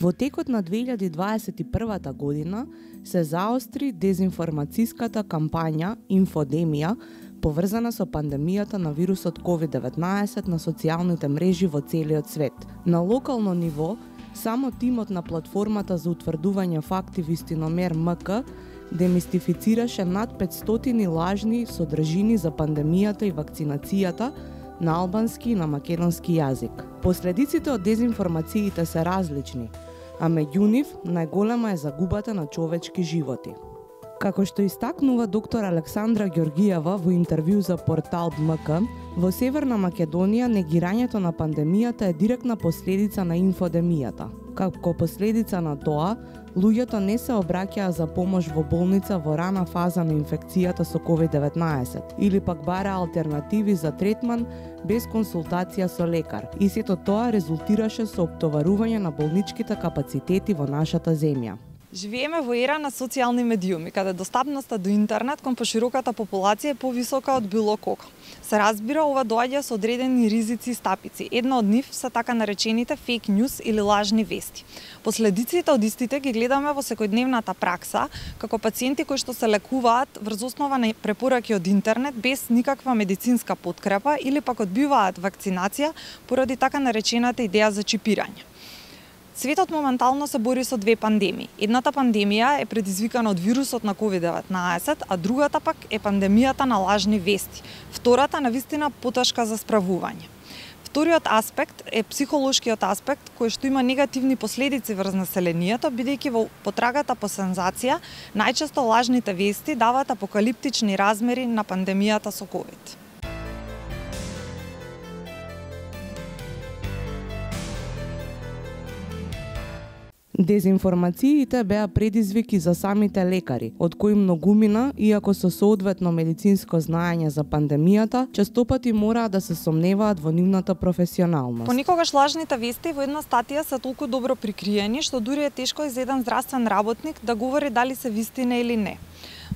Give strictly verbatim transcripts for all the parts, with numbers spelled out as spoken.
Во текот на две илјади дваесет и првата година се заостри дезинформацијската кампања Инфодемија, поврзана со пандемијата на вирусот ковид деветнаесет на социјалните мрежи во целиот свет. На локално ниво, само тимот на платформата за утврдување факти Вистиномер МК демистифицираше над петстотини лажни содржини за пандемијата и вакцинацијата на албански и на македонски јазик. Последиците од дезинформациите се различни, а меѓу нив најголема е загубата на човечки животи. Како што истакнува доктор Александра Ѓоргиева во интервју за портал МК, во Северна Македонија негирањето на пандемијата е директна последица на инфодемијата. Како последица на тоа, луѓето не се обраќаа за помош во болница во рана фаза на инфекцијата со ковид деветнаесет или пак бараа алтернативи за третман без консултација со лекар. И сето тоа резултираше со оптоварување на болничките капацитети во нашата земја. Живееме во ера на социјални медиуми, каде достапноста до интернет кон пошироката популација е повисока од било кога. Се разбира, ова доаѓа со одредени ризици и стапици. Една од нив се така наречените фейк ньюс или лажни вести. Последиците од истите ги гледаме во секојдневната пракса, како пациенти кои што се лекуваат врз основа на препораки од интернет без никаква медицинска подкрепа или пак одбиваат вакцинација поради така наречената идеја за чипирање. Светот моментално се бори со две пандемии. Едната пандемија е предизвикана од вирусот на ковид деветнаесет, а другата пак е пандемијата на лажни вести. Втората навистина потешка за справување. Вториот аспект е психолошкиот аспект кој што има негативни последици врз населението, бидејќи во потрагата по сензација најчесто лажните вести даваат апокалиптични размери на пандемијата со ковид. Дезинформациите беа предизвик и за самите лекари, од кои многумина, иако со соодветно медицинско знаење за пандемијата, честопати мораа да се сомневаат во нивната професионалност. Понекогаш лажните вести во една статија се толку добро прикриени, што дури е тешко и за еден здравствен работник да говори дали се вистина или не.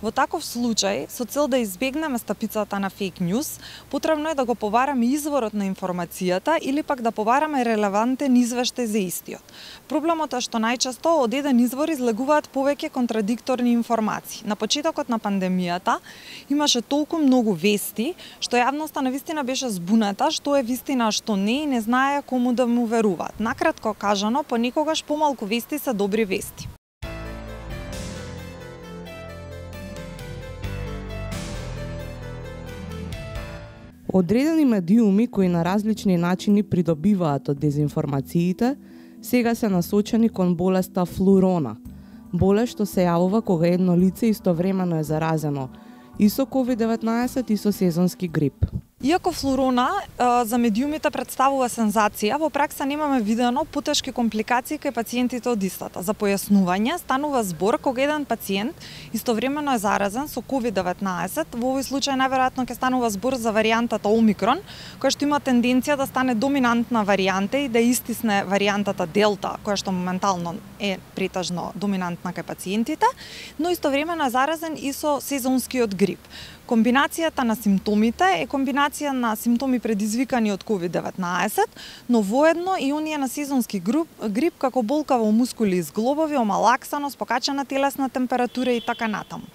Во таков случај, со цел да избегнеме стапицата на фейк ньюс, потребно е да го побараме изворот на информацијата или пак да побараме релевантен извештај за истиот. Проблемот е што најчесто од еден извор излегуваат повеќе контрадикторни информации. На почетокот на пандемијата имаше толку многу вести, што јавноста навистина беше збуната што е вистина, а што не и не знаеа кому да му веруваат. Накратко кажано, понекогаш помалку вести се добри вести. Одредени медиуми кои на различни начини придобиваат од дезинформациите, сега се насочени кон болеста флурона, болест што се јавува кога едно лице истовремено е заразено и со ковид деветнаесет и со сезонски грип. Иако флурона за медиумите представува сензација, во пракса немаме видено потешки компликации кај пациентите од истата. За појаснување, станува збор кога еден пациент истовремено е заразен со ковид деветнаесет, во овој случај најверојатно ќе станува збор за варијантата Омикрон, која што има тенденција да стане доминантна варијанта и да истисне варијантата Делта, која што моментално е претежно доминантна кај пациентите, но истовремено е заразен и со сезонскиот грип. Комбинацијата на симптомите е комбинација на симптоми предизвикани од ковид деветнаесет, но воедно и оние на сезонски грип, грип како болка во мускули и зглобови, омалаксаност, покачена телесна температура и така натаму.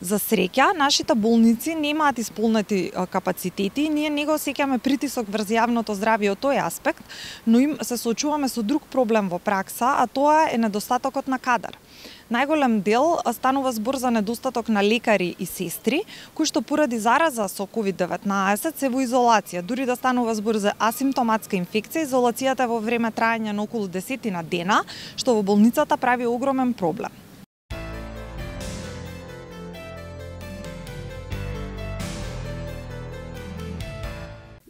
За среќа, нашите болници немаат исполнети капацитети и ние не го осеќаме притисок врз јавното здравје од тој аспект, но им се соочуваме со друг проблем во пракса, а тоа е недостатокот на кадар. Најголем дел станува збор за недостаток на лекари и сестри, кои што поради зараза со ковид деветнаесет се во изолација. Дури да станува збор за асимптоматска инфекција, изолацијата е во време траење на околу десетина дена, што во болницата прави огромен проблем.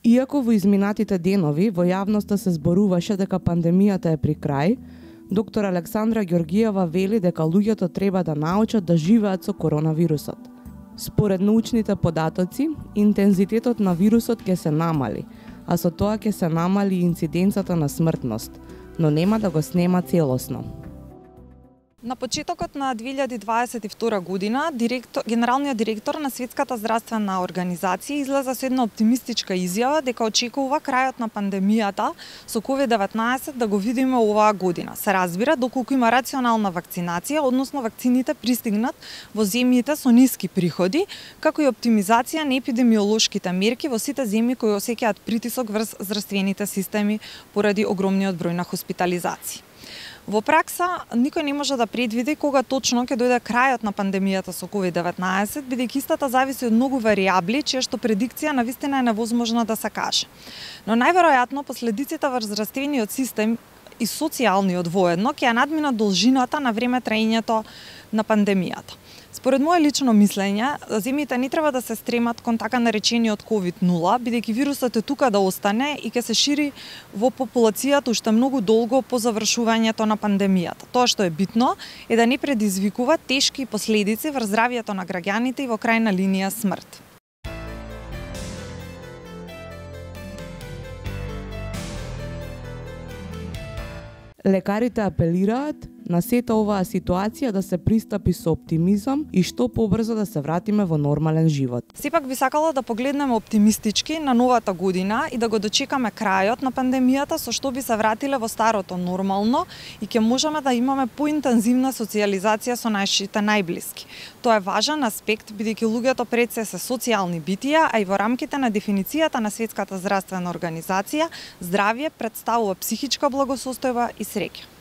Иако во изминатите денови во јавноста се зборуваше дека пандемијата е при крај, доктор Александра Ѓоргиева вели дека луѓето треба да научат да живеат со коронавирусот. Според научните податоци, интензитетот на вирусот ќе се намали, а со тоа ќе се намали и инциденцата на смртност, но нема да го снема целосно. На почетокот на две илјади дваесет и втора година, директор, генералниот директор на Светската здравствена организација излезе со една оптимистичка изјава дека очекува крајот на пандемијата со ковид деветнаесет да го видиме оваа година. Се разбира доколку има рационална вакцинација, односно вакцините пристигнат во земјите со ниски приходи, како и оптимизација на епидемиолошките мерки во сите земји кои осеќаат притисок врз здравствените системи поради огромниот број на хоспитализации. Во пракса, никој не може да предвиди кога точно ќе дојде крајот на пандемијата со ковид деветнаесет, бидејќи истата зависи од многу варијабли, чија што предикција навистина е невозможна да се каже. Но најверојатно последиците врз здравствениот систем и социјалниот воедно ќе ја надминат должината на време траењето на пандемијата. Според моје лично мислење, земјите не треба да се стремат кон така наречениот ковид нула, бидејќи вирусот е тука да остане и ќе се шири во популацијата уште многу долго по завршувањето на пандемијата. Тоа што е битно е да не предизвикува тешки последици врз здравјето на граѓаните и во крајна линија смрт. Лекарите апелираат на сета оваа ситуација да се пристапи со оптимизам и што побрзо да се вратиме во нормален живот. Сепак би сакала да погледнеме оптимистички на новата година и да го дочекаме крајот на пандемијата со што би се вратиле во старото нормално и ќе можеме да имаме поинтензивна социјализација со нашите најблиски. Тоа е важен аспект бидејќи луѓето пред се се социјални битија, а и во рамките на дефиницијата на Светската здравствена организација, здравје претставува психичка благосостојба и среќа.